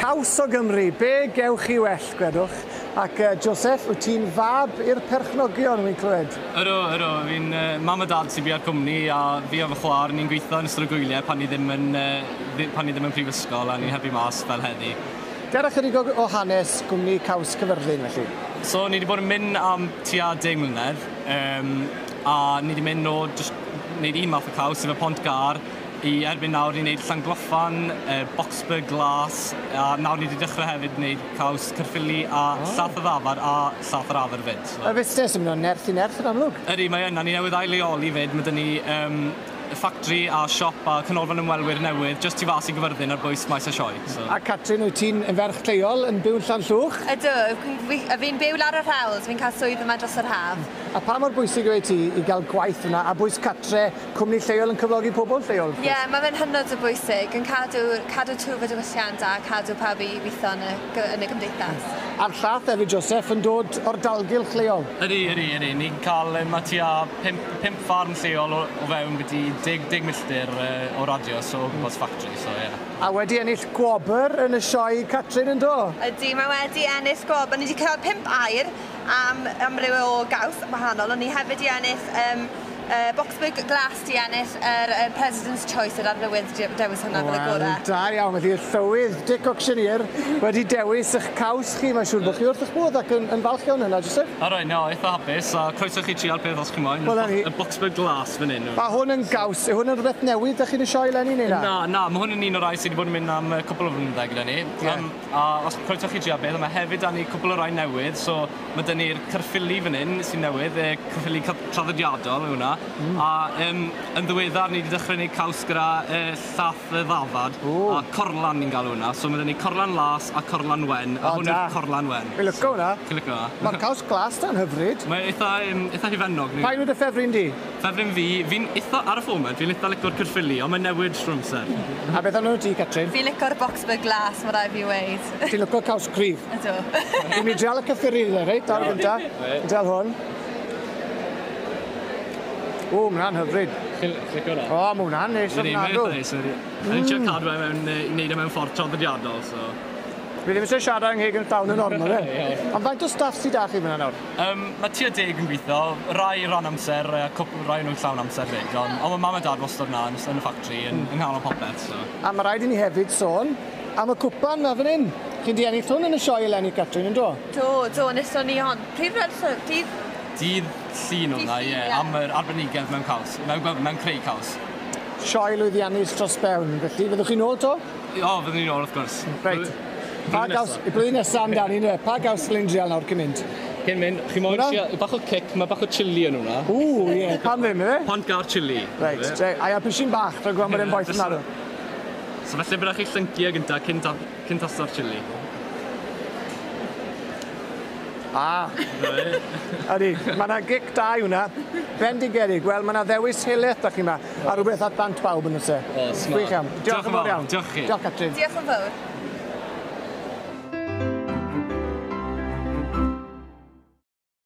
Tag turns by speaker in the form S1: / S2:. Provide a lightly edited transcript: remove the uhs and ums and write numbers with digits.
S1: Caws o Gymru, be gewch chi well, gwedwch? Ac Joseph, wyt ti'n fab i'r perchnogion, wy'n clywed?
S2: Ydw, ydw. Fi'n mam a dad sy'n bia'r cwmni a fi a fy chwaer ni'n gweithio yn ystod y gwyliau pan ni ddim yn, pan ni ddim yn prifysgol a ni'n helpu mas fel heddi.
S1: Dera chydig o hanes gwmni Caws Caerfyrddin, felly.
S2: So, ni wedi bod yn mynd am tua 10 mlynedd, a ni wedi mynd o jyst wneud un math o caws, sef y Pont Gar, i erbyn nawr ni'n neud Llangloffan, Boxburg Glas, a nawr ni wedi dechrau hefyd wneud caws Caerffili a llath y ddafad a llath yr afr fyd.
S1: So. Y fusnes yn mynd o nerth i nerth yn amlwg.
S2: Ydy, mae yna. Ni newydd ail-leoli fyd. Mae 'da ni ffactri a siop a canolfan ymwelwyr newydd jyst tu fas i Gyfyrddin ar bwys Maes y Sioe.
S1: So. A Catrin, wyt ti'n ferch lleol yn byw yn Llanllwch?
S3: Ydw, fi'n byw lawr yr hewl, so fi'n cael swydd yma dros yr haf.
S1: A pa mor bwysig yw e ti i gael gwaith yna, a bwys catre, cwmni lleol yn cyflogi pobl lleol?
S3: Ie, yeah, mae fe'n hynod o bwysig, yn cadw twf y diwylliant a cadw pawb i weithio yn y gymdeithas.
S1: A'r llath hefyd, Joseph, yn dod o'r dalgylch lleol?
S2: Ydy, ydy, ydy. Ni'n cael, mae tua 5 ffarm lleol o fewn byti 10 milltir o radius o gwmpas factory, so ie. Yeah.
S1: A wedi ennill gwobr yn y sioe, Catrin, yn do?
S3: Ydy, mae wedi ennill gwobr. Ni wedi cael 5 aur am amryw o gaws wahanol, ond ni hefyd wedi ennill Boxburg Glas di ennill yr President's Choice, yr arlywydd dewis hwnna fel y gorau.
S1: Da iawn, felly y llywydd Dick Auctioneer wedi dewis eich caws chi, mae'n siŵr bod chi wrth eich bodd ac yn falch iawn hynna, Joseph?
S2: Alright, no, eitha hapus, a croeso chi trial peth os chi moyn. Well, y Boxburg Glas fan hyn.
S1: A hwn yn gaws, yw hwn yn rhywbeth newydd ydych chi'n y sioe eleni neu na?
S2: Na, na, mae hwn yn un o'r rai sydd wedi bod yn mynd am cwpl o flynyddoedd gyda ni. Yeah. A os croeso chi trial beth, mae hefyd da ni cwpl o rai newydd, so mae da ni'r Caerffili fan hyn sy'n newydd, Caerffili traddodiadol yw hwnna. A yn ddiweddar ni wedi dechrau gwneud caws gyda llath y ddafad a corlan ni'n galw hwnna. So mae 'da ni corlan las a corlan wen, a hwn yw'r corlan wen.
S1: Fi'n licio hwnna.
S2: Chi'n licio hwnna?
S1: Mae'r caws glas da'n hyfryd.
S2: Mae eitha hufennog.
S1: Pa un yw dy ffefryn di?
S2: Ffefryn fi, fi'n eitha, ar y foment, fi'n eitha licio'r Caerffili, ond mae'n newid trwy amser.
S1: A beth amdano ti, Catrin?
S3: Fi'n licio'r Boxburg Glas, mae rhaid fi weud.
S1: Ti'n licio caws cryf?
S3: Ydw.
S1: Fi'n mynd i drial y Caerffili, reit, ar y gynta. Drial hwn. O, mae hwnna'n hyfryd.
S2: Chi'n licio hwnna?
S1: O, mae hwnna'n neis ofnadw.
S2: Ni'n trio cadw e mewn, i wneud e mewn ffordd traddodiadol, so...
S1: Fi ddim eisiau siarad yng ngheg yn llawn yn ormod, e? Ond faint o staff sydd 'da chi fyna nawr?
S2: Mae tua 10 yn gweithio, rai ran amser, a cwpl rai nhw'n llawn amser fyd, ond mae mam a dad wastad yna yn y ffactri, yn nghanol popeth, so...
S1: A mae rhaid i ni hefyd sôn am y cwpan na fan hyn. Chi 'di ennill hwn yn y sioe eleni, Catrin, yn do?
S3: Do, do, nethon ni hon. Pryd dydd?
S2: Dydd Llun hwnna, ie, am yr arbenigedd mewn caws, mewn creu caws.
S1: Sioe lwyddiannus dros ben, felly fyddwch chi'n ôl to?
S2: O, fyddwn ni'n ôl, wrth gwrs.
S1: Reit. Pa gaws, y blwyddyn nesaf amdani, ynddo? Pa gaws ddylwn drial nawr cyn mynd?
S2: Cyn mynd, chi moyn trio, bach o cic, mae bach o chilli yn hwnna.
S1: Ww, ie, pam ddim, ife?
S2: Pont Gar chilli.
S1: Reit, a ia, pishyn bach, rhaid gweld bod e'n boeth yn arw.
S2: So felly byddwch chi llyncu e gynta cyn tasto'r chilli.
S1: Ah, ydy, mae yna gic da i hwnna. Bendigedig, wel, mae yna ddewis helaeth da chi yma, a rhywbeth at ddant bawb yn y se.
S2: O, smart.
S1: Gwych iawn. Diolch yn fawr iawn.
S2: Diolch chi.
S1: Diolch, Catrin.
S3: Diolch yn fawr.